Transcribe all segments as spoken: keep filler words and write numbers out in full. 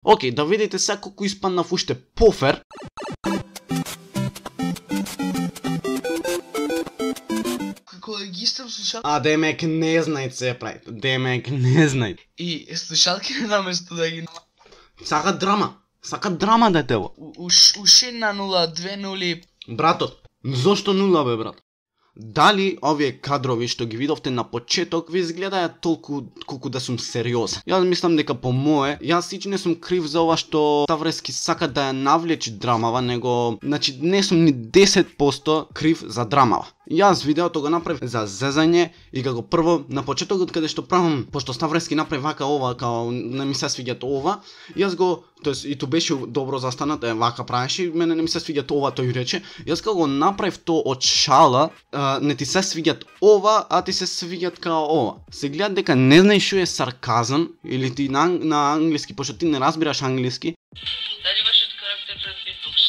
Океј, да видите сега колку испаднав уште пофер. Како регистар слушалки. А демек не знај се прави. Демек не знај. И слушалки наместо да ги Сака драма. Сака драма детево. Уш една нула, две нули. Братот, зошто нула бе брат? Дали овие кадрови што ги видовте на почеток ви изгледаја толку колку да сум сериозен? Јас мислам дека по мое, јас сич не сум крив за ова што Ставрески сака да ја навлечи драмава, него значи не сум ни десет посто крив за драмава. Јас видеото го направив за зезање и како прво на почетокот каде што правам, пошто Ставрески направи вака ова, као не ми се свиѓа ова, јас го, тоест и то беше добро застанат, е вака правеше, мене не ми се свиѓа ова, тој рече. Јас кога го направив то од шала, а, не ти се свиѓат ова, а ти се свиѓат као ова. Се гледа дека не знаеш што е сарказам или ти на, на англиски, пошто ти не разбираш англиски. Дали вашиот карактер пред битбокс?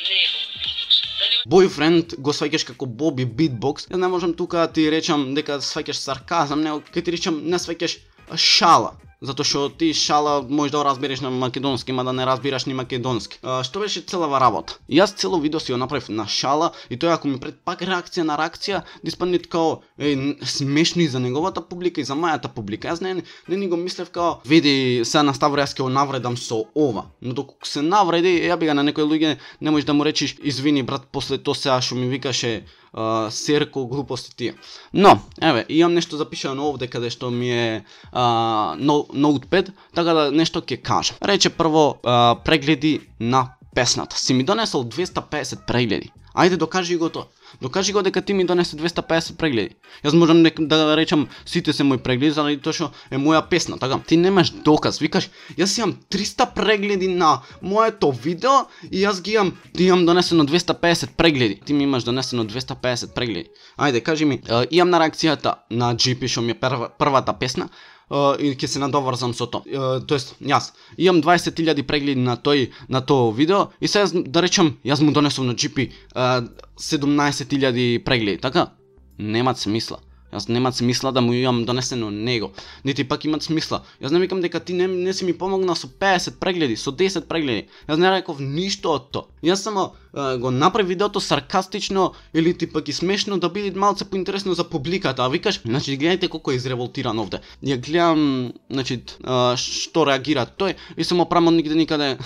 Не е битбокс. Дали Boyfriend го сваќаш како Боби Битбокс. Јас не можам тука да ти речам дека сваќаш сарказам, него ќе ти речам не сваќаш шала. Затоа што ти шала можеш да разбереш на македонски, ма да не разбираш ни македонски. А, што беше целава работа? Јас цело видео си го направив на шала и тој ако ми пред пак реакција на реакција, да испадне као е, смешно и за неговата публика и за мојата публика. Јас не, не ни го мислев као види сега на Ставрески го навредам со ова. Но доколку се навреди, ја би га на некои луѓе не можеш да му речиш извини брат после тоа сега што ми викаше Uh, серко глупости тие. Но, еве, имам нешто запишано овде каде што ми е uh, ноутпед, така да нешто ќе кажам. Рече прво uh, прегледи на песната. Си ми донесол двеста песет прегледи. Ајде докажи го тоа. Докажи го дека ти ми донесе двеста песет прегледи. Јас можам да речам сите се мои прегледи заради тоа што е моја песна, така? Ти немаш доказ, викаш, јас имам триста прегледи на моето видео и јас ги имам, ти имам донесено двеста песет прегледи. Ти ми имаш донесено двеста песет прегледи. Ајде, кажи ми, имам на реакцијата на джи пи што ми е прва, првата песна. Uh, и ќе се надоврзам со тоа. Uh, тоест, јас имам дваесет илјади прегледи на тој на тоа видео и сега да речам, јас му донесов на джи пи uh, седумнаесет илјади прегледи, така? Немат смисла. Јас немат смисла да му имам донесено него. Нити пак имат смисла. Јас не викам дека ти не, не си ми помогна со песет прегледи, со десет прегледи. Јас не реков ништо од тоа. Јас само е, го направи видеото саркастично или ти пак и смешно да биде малце поинтересно за публиката. А викаш, значи гледајте колку е изреволтиран овде. Ја гледам, значи е, што реагира тој и само прамо нигде никаде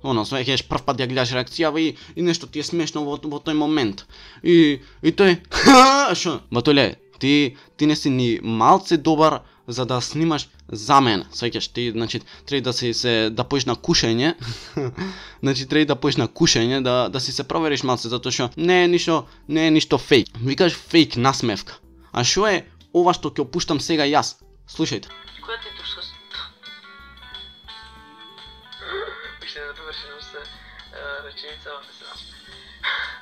оно, свеќаш прв пат ја гледаш реакција и, и нешто ти е смешно во, во тој момент. И и тој шо? Батоле, Ти, ти не си ни малце добар за да снимаш за мене. Свеќаш ти, значи, треба да си се да поиш на кушање. Значи треба да поиш на кушање, да да си се провериш малце затоа што не е ништо, не е ништо фейк. Викаш фейк насмевка. А што е ова што ќе опуштам сега јас? Слушајте. која ти е турска? Уште не довршено се реченица во се насмех.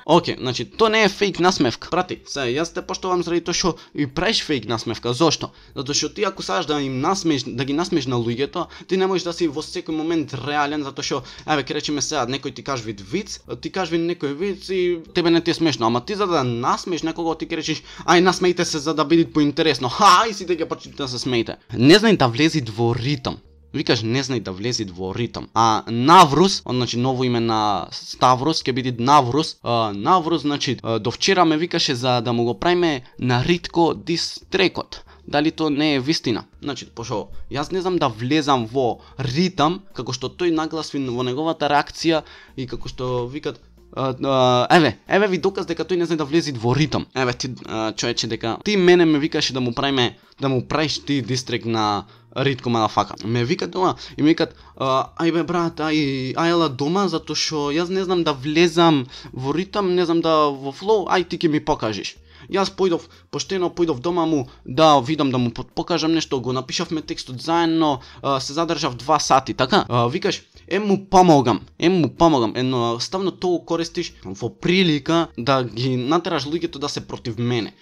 Океј, okay, значи тоа не е фейк насмевка. Прати, се, јас те поштовам заради тоа што и правиш фейк насмевка. Зошто? Затоа што ти ако сакаш да им насмеш, да ги насмеш на луѓето, ти не можеш да си во секој момент реален, затоа што еве ќе речеме сега некој ти кажи вид виц, ти кажи некој виц и тебе не ти е смешно, ама ти за да насмеш некого ти ќе речеш ај насмејте се за да биде поинтересно. Хај сите ќе почнете да се смејте. Не знај да влези во ритм. Викаш не знај да влези во ритм. А Наврус, значи ново име на Ставрос ќе биде Наврус. А, Наврус значи до вчера ме викаше за да му го правиме на Ритко дистрекот. Дали тоа не е вистина? Значи, пошо, јас не знам да влезам во ритм како што тој нагласи во неговата реакција и како што викат Uh, uh, еве, еве ви доказ дека тој не знае да влези во ритм. Еве ти uh, човече дека ти мене ме викаше да му правиме да му правиш ти дистрек на Ритко мадафака. Ме викат дома и ми викат uh, ај бе брат, ај ајла дома затоа што јас не знам да влезам во ритм, не знам да во флоу, ај ти ќе ми покажеш. Јас појдов, поштено појдов дома му да видам да му покажам нешто, го напишавме текстот заедно, uh, се задржав два сати, така? Uh, викаш Ем му помогам, ем му помогам, ено ставно тоа користиш во прилика да ги натераш луѓето да се против мене.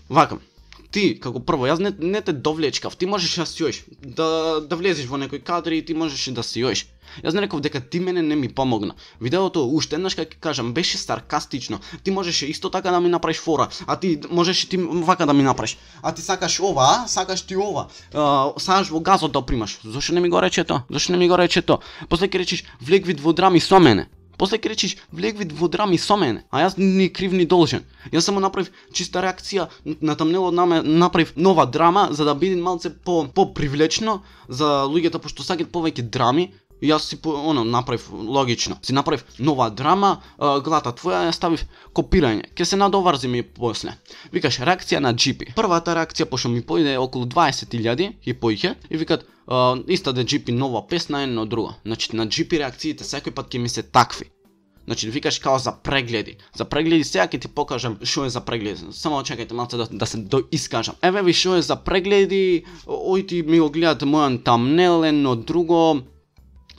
Вака, ти како прво, јас не, не те довлечкав, ти можеш да си јоиш, да да влезеш во некој кадри и ти можеш да си јоиш. Јас не реков дека ти мене не ми помогна. Видеото уште еднаш како ќе кажам беше саркастично. Ти можеше исто така да ми направиш фора, а ти можеше ти вака да ми направиш. А ти сакаш ова, а? Сакаш ти ова. А, сакаш во газот да примаш. Зошто не ми го рече тоа? Зошто не ми го рече тоа? После ќе речеш влег вид во драми со мене. После ќе речеш влег вид во драми со мене, а јас ни крив ни должен. Јас само направив чиста реакција на тамнелот, направив нова драма за да биде малце по попривлечно за луѓето пошто сакаат повеќе драми. И јас си оно направив логично. Си направив нова драма, глата твоја ја ставив копирање. Ке се надоврзи ми после. Викаш реакција на джи пи. Првата реакција пошто ми поиде околу дваесет илјади и поиќе и викат иста да джи пи нова песна едно друго. Значи на джи пи реакциите секој пат ќе ми се такви. Значи викаш као за прегледи. За прегледи сега ќе ти покажам што е за прегледи. Само чекајте малце да, да се доискажам. Еве ви што е за прегледи. Ојти ми го гледате мојан тамнел едно друго.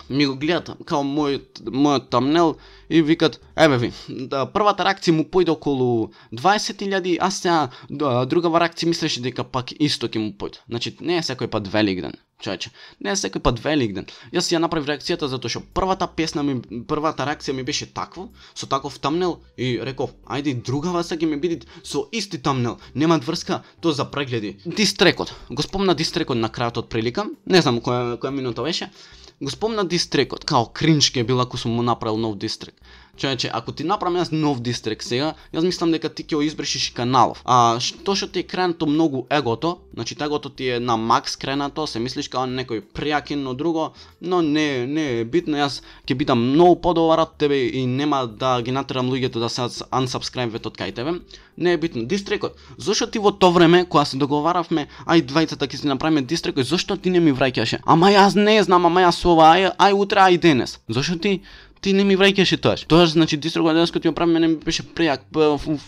Ми го гледат као мојот мојот тамнел и викат еве ви, да, првата реакција му појде околу дваесет илјади, а сега да, другава реакција мислеше дека пак исто ќе му појде. Значи не е секој пат Великден, човече. Не е секој пат Великден. Јас ја направив реакцијата затоа што првата песна ми првата реакција ми беше таква, со таков тамнел и реков, ајде другава сега ќе ми биде со исти тамнел. Нема врска, тоа за прегледи. Дистрекот. Го спомна дистрекот на крајот од прилика. Не знам која која минута беше. Го спомна дистрекот, као кринч ке бил ако сум му направил нов дистрек. Човече, ако ти направам јас нов дистрек сега, јас мислам дека ти ќе го избришиш и каналов. А што што ти е кренато многу егото, значи егото ти е на макс кренато, се мислиш као некој пријакин, но друго, но не не е битно, јас ќе бидам многу подобар од тебе и нема да ги натерам луѓето да се unsubscribe-вет од кај тебе. Не е битно. Дистрекот. Зошто ти во тоа време кога се договаравме, ај двајцата ќе си направиме дистрекот, зошто ти не ми враќаше? Ама јас не знам, ама јас ова, ај, ај утре, ај денес. Зошто ти ти не ми враќаше тоаш? Тоаш значи дистрекот денес кога ти го правиме не ми беше прејак,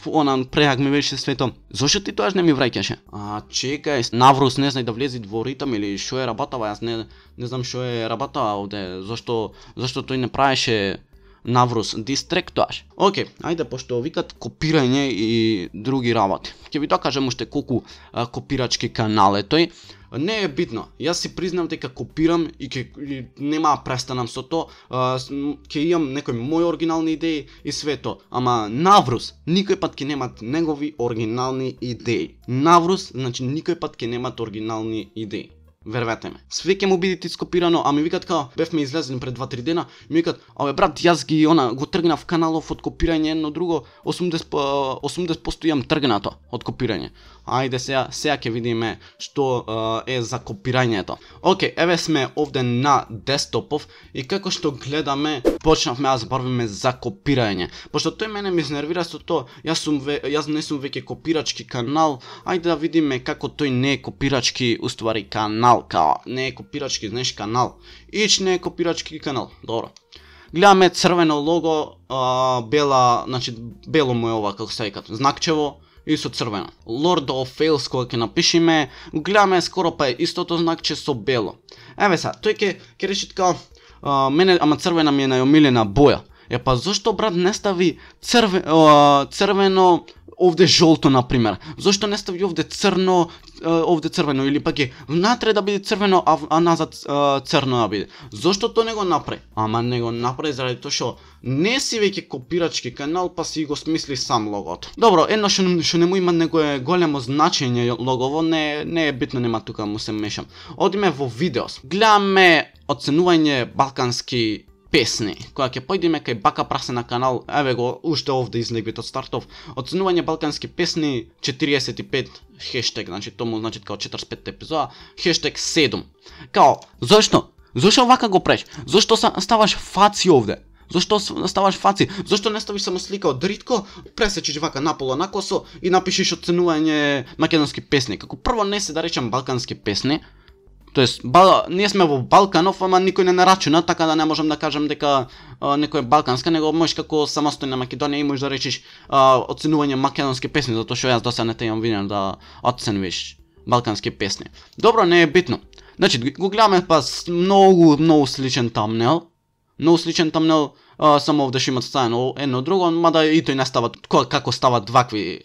она прејак ми беше свето. Зошто ти тоаш не ми враќаше? А чекај, Наврус не знај да влези во ритам или што е работава, јас не не знам што е работава овде. Зошто зошто тој не правеше Наврус дистрек тоаш. Океј, ајде пошто викат копирање и други работи. Ќе ви докажам уште колку а, копирачки канал е тој. Не е битно. Јас си признав дека копирам и ќе нема престанам со тоа. Ќе имам некои мои оригинални идеи и све тоа. Ама Наврус никој пат ќе немат негови оригинални идеи. Наврус значи никој пат ќе немат оригинални идеи. Вервете ме. Све ќе му биде скопирано, а ми викат као бевме излезени пред два-три дена, ми викат, абе брат, јас ги она го тргнав каналов од копирање едно друго, осумдесет проценти имам тргнато од копирање. Ајде сега, сега ќе видиме што е за копирањето. Океј, еве сме овде на десктопов и како што гледаме, почнавме да зборуваме за копирање. Пошто тој мене ме изнервира со тоа, јас сум ве, јас не сум веќе копирачки канал, ајде да видиме како тој не е копирачки уствари канал. Као, не е копирачки, знаеш, канал. Ич не е копирачки канал. Добро. Гледаме црвено лого, а, бела, значи бело му е ова како се викат, знакчево и со црвено. Lord of Fails кога ќе напишеме, гледаме скоро па е истото знакче со бело. Еве са, тој ќе ќе реши така, а, мене ама црвена ми е најомилена боја. Е па зошто брат не стави црве, а, црвено овде жолто на пример. Зошто не стави овде црно, овде црвено или пак е внатре да биде црвено, а, а назад а, црно да биде. Зошто тоа не го направи? Ама не го направи заради тоа што не си веќе копирачки канал, па си го смисли сам логото. Добро, едно што, што не му има некое големо значење логово, не не е битно, нема тука му се мешам. Одиме во видеос. Гледаме оценување балкански песни, која ќе појдеме кај Бака Прасена канал, еве го, уште овде излегвит од стартов. Оценување балкански песни четириесет и пет хештег, значи тому значи као четиридесет и пет епизода, хештег седум. Као, зошто? Зошто вака го правиш? Зошто ставаш фаци овде? Зошто ставаш фаци? Зошто не ставиш само слика од Ритко, пресечиш вака наполо накосо и напишеш оценување македонски песни. Како прво не се да речам балкански песни, тоест, бал, ние сме во Балканов, ама никој не нарачуна, така да не можам да кажам дека а, некој е балканска, него можеш како самостојна Македонија и можеш да речеш а, оценување македонски песни, затоа што јас до сега не те имам видено да оценувиш балкански песни. Добро, не е битно. Значи, го гледаме па многу, многу сличен тамнел, многу сличен тамнел, а, само овде што имат ставено едно друго, мада и тој не става, како стават вакви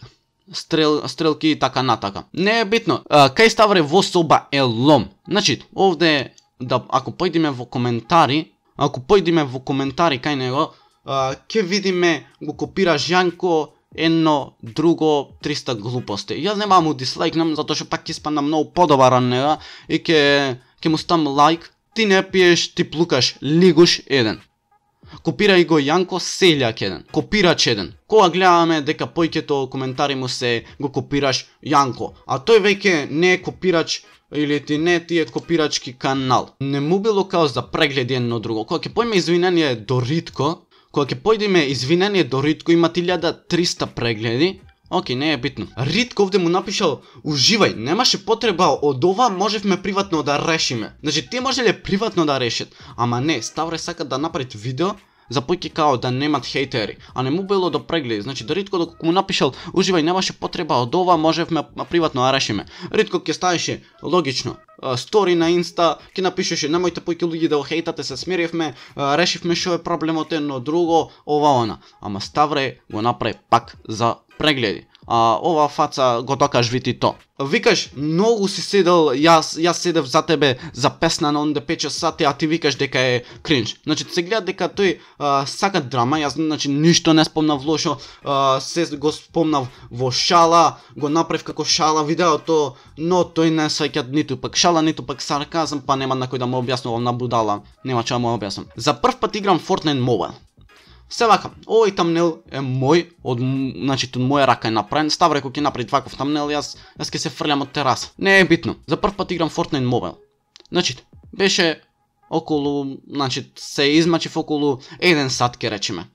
стрел, стрелки и така натака. Не е битно. А, кај Ставре во соба е лом. Значи, овде да ако појдеме во коментари, ако појдеме во коментари кај него, а, ќе видиме го копираш Јанко едно, друго, триста глупости. Јас нема му дислайкнам затоа што пак испадна многу подобар од него и ќе ќе му стам лайк. Ти не пиеш, ти плукаш, лигуш еден. Копирај го Јанко Селјак еден. Копирач еден. Кога гледаме дека појќето коментари му се го копираш Јанко, а тој веќе не е копирач или ти не ти е копирачки канал. Не му било као за прегледи едно друго. Кога ќе појме извинение до Ритко, кога ќе појдеме извинение до Ритко, има илјада и триста прегледи. Океј, не е битно. Ритко овде му напишал, уживај, немаше потреба од ова, можевме приватно да решиме. Значи, те можеле приватно да решат, ама не, Ставре сака да направи видео, за појки као да немат хейтери, а не му било до прегледи. Значи, да Ритко доколку му напишал, уживај, немаше потреба од ова, можевме приватно да решиме. Ритко ќе ставеше, логично, стори на инста, ќе напишеше, немојте појки луѓе да го хейтате, се смиривме, решивме што е проблемот едно друго, ова она. Ама Ставре го направи пак за прегледи. А ова фаца го докаш вити то. Викаш, многу си седел, јас јас седев за тебе за песна на онде пет сати, а ти викаш дека е кринж. Значи се гледа дека тој а, сака драма, јас значи ништо не спомнав лошо, а, се го спомнав во шала, го направив како шала видеото, но тој не сваќа ниту пак шала, ниту пак сарказам, па нема на кој да му објаснувам на будала, нема ча му објаснам. За прв пат играм Fortnite Mobile. Се вака, овој тамнел е мој, од, значи, од моја рака е направен. Ставре кој ќе направи ваков тамнел, јас, јас ќе се фрлям од тераса. Не е битно, за прв пат играм Fortnite Mobile. Значи, беше околу, значи, се измачив околу еден сат, ке речеме.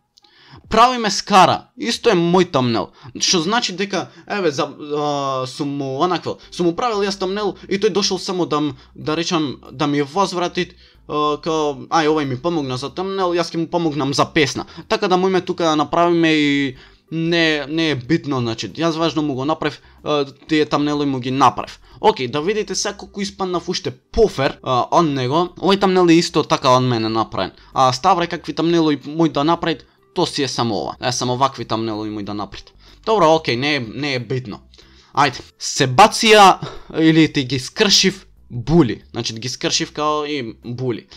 Правиме скара, исто е мој тамнел. Што значи дека, еве, за, а, сум му онаквел, сум му правил јас тамнел и тој дошол само да, да речам, да ми возврати, Uh, као, ај, овај ми помогна за тамнел, јас ќе му помогнам за песна. Така да мојме тука да направиме и не, не е битно, значи, јас важно му го направив, uh, тие тамнели му ги направив. Океј, да видите сега колку испаднав уште пофер uh, од него, овој тамнел е исто така од мене направен. А Ставре какви тамнели мој да направи, то си е само ова. Е, само вакви тамнели мој да направи. Добро, океј, не е, не е битно. Ајде, се бација или ти ги скршив були, значи ги скршив као и були.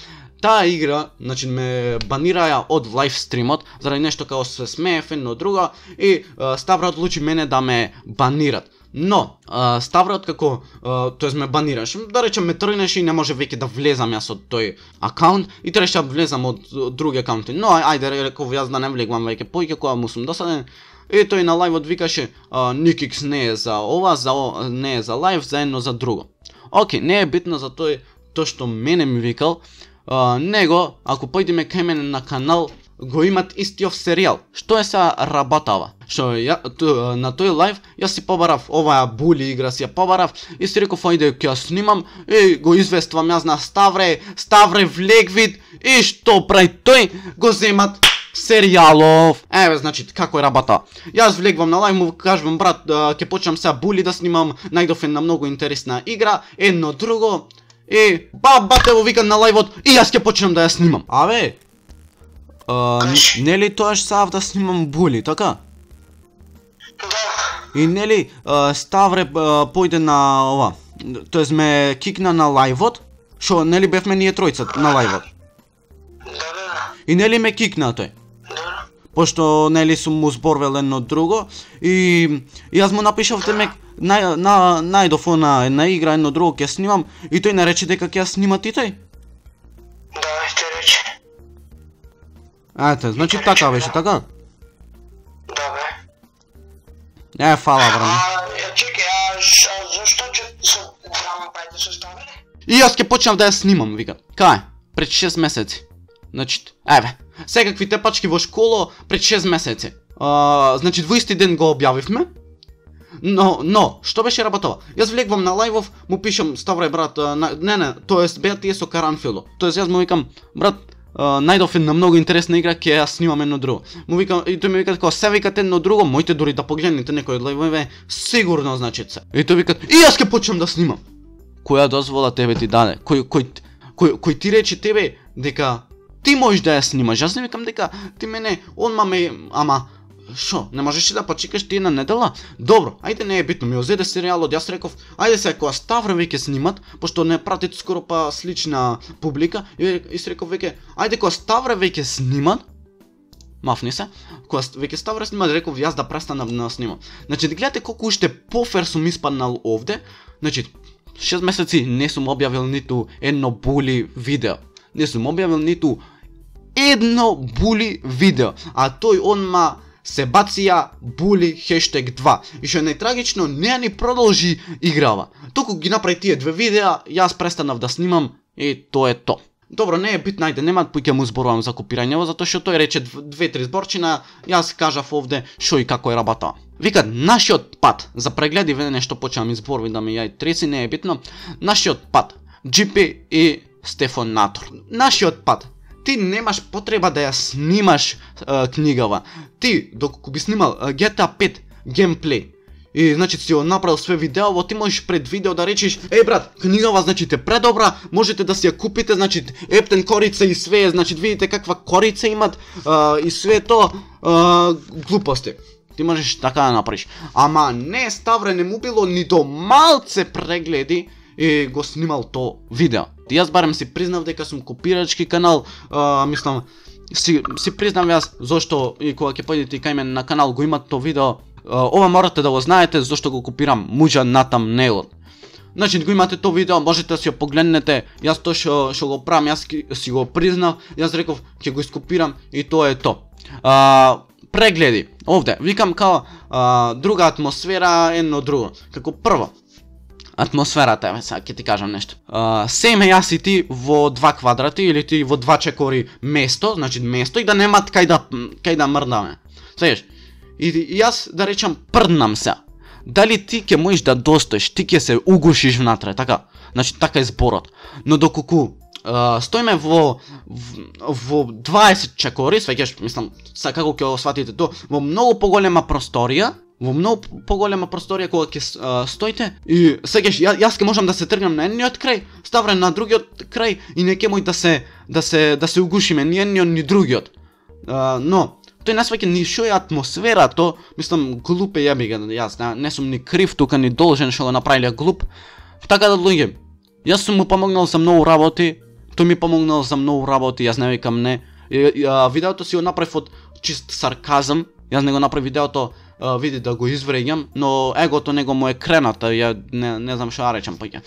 Таа игра, значи ме банираја од лайв стримот заради нешто као се смеев едно друго и uh, Ставре одлучи мене да ме банират. Но uh, Ставре како uh, тоест ме банираш, да речем ме тргнеше и не може веќе да влезам јас од тој акаунт и требаше да влезам од, од други акаунти. Но ајде реков јас да не влегувам веќе поиќе кога му сум досаден. И тој на лајвот викаше uh, Никикс не е за ова, за о, не е за лајв, за едно за друго. Океј, не е битно за тој, тоа што мене ми викал, uh, него, ако појдеме кај мене на канал, го имат истиов серијал. Што е са работава? Што ја, ту, на тој лайв, јас си побарав оваа були игра, си ја побарав и си реков, ајде ќе ја снимам и го извествам јас на Ставре, Ставре влегвид и што прави тој, го земат серијалов. Еве, значи, како е работа. Јас влегвам на лајв, му кажувам, брат, ќе почнам сега були да снимам, најдов една многу интересна игра, едно друго, и ба, бате во викан на лајвот, и јас ќе почнам да ја снимам. Абе, uh, нели тоаш сав да снимам були, така? И нели uh, Ставре uh, појде на ова, тоест ме кикна на лајвот, шо нели бевме ние тројца на лајвот? И нели ме кикна тој? Пошто нели сум му зборвел едно друго и јас му напишав темек на, на, најдов на една игра едно друго ќе снимам и тој не рече дека ќе ја снима и тој? Да, ќе рече. Ете, значи така беше, така? Да, бе. Е, фала, брат. А, чекај, а зашто ќе со драма пајте со Ставре? И јас ќе почнав да ја снимам, вика. Кај? Пред шест месеци. Значи, еве, секакви тепачки во школа пред шест месеци. А, значи, двоисти ден го објавивме. Но, но, што беше работава? Јас влегвам на лајвов, му пишам, Ставре, брат, на, не, не, тоест, беа тие со Каранфило. Тоест, јас му викам, брат, Uh, најдов една многу интересна игра, ќе ја снимам едно друго. Му викам, и тој ми вика како, се викате едно друго, моите дори да погледнете некој од лајвове, сигурно значи се. И тој вика, и јас ќе почнам да снимам. Која дозвола тебе ти даде? Кој кој кој, кој ти рече тебе дека ти можеш да ја снимаш? Јас не викам дека ти мене, онма ме, ама Шо, не можеш ли да почекаш ти една недела? Добро, ајде не е битно, ми озеде серијалот, јас реков, ајде се кога Ставре веќе снимат, пошто не пратите скоро па слична публика, и, и се реков веќе, ајде кога Ставре веќе снимат, мафни се, кога веќе Ставре снимат, реков јас да престанам да снимам. Значи, да гледате колку уште пофер сум испаднал овде, значи, шест месеци не сум објавил ниту едно були видео, не сум објавил ниту едно були видео, а тој онма се бација були хештег два. И што е најтрагично, не ни продолжи играва. Току ги направи тие две видеа, јас престанав да снимам и тоа е то. Добро, не е битно, ајде, нема поќе му зборувам за копирањево, затоа што тој рече две-три зборчина, јас кажав овде што и како е работа. Викат, нашиот пат за прегледи, веќе нешто почнам изборви да ми јај треси, не е битно. Нашиот пат, Джи Пи и Стефан Натор. Нашиот пат. Ти немаш потреба да ја снимаш а, книгава. Ти, доколку би снимал а, Джи Ти Ей пет геймплей, и значи си го направил све видеово, ти можеш пред видео да речеш, еј брат, книгава значи те предобра, можете да си ја купите, значи ептен корица и све, значи видите каква корица имат а, и све тоа а, глупости. Ти можеш така да направиш. Ама не, Ставре не му било ни до малце прегледи и го снимал то видео. Јас барем си признав дека сум копирачки канал, а, мислам, си, си признав јас зошто и кога ќе појдете кај мене на канал го имат то видео, а, ова морате да го знаете зошто го копирам Муџа Натам Нейлот. Значи го имате то видео, можете да си го погледнете, јас тоа што што го правам, јас си го признав, јас реков ќе го ископирам и тоа е то. А, прегледи, овде, викам као а, друга атмосфера, едно друго, како прво. Атмосферата, еве сега ќе ти кажам нешто. Uh, Семе јас и ти во два квадрати или ти во два чекори место, значи место и да немат кај да кај да мрдаме. Слегаш? И, и јас да речам прднам се. Дали ти ќе можеш да достоиш, ти ќе се угушиш внатре, така? Значи така е зборот. Но доколку uh, стоиме во во, во дваесет чекори, свеќаш, мислам, са како ќе го сватите тоа, во многу поголема просторија, во многу поголема просторија кога ќе стоите и сегаш ја, јас ќе можам да се тргнам на едниот крај, Ставре на другиот крај и не ќе мој да се да се да се угушиме ни едниот ни другиот. А, но тој не сваќа ни шо е атмосфера, то мислам глупе јаби ga, јас не, не сум ни крив тука ни должен што го направиле глуп. Така да луѓе, јас сум му помогнал за многу работи, тој ми помогнал за многу работи, јас не викам не. И, и, а, видеото си го направив од чист сарказам, јас не го направив видеото Uh, види да го извреѓам, но егото него му е крената, ја не, не знам што да речам паќе.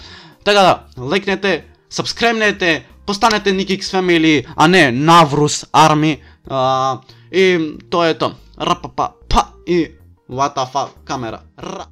Така да, лайкнете, сабскребнете, постанете Никикс Family, а не Наврус Арми, uh, и тоа е тоа. Рапапа, па и ватафа камера. Ра.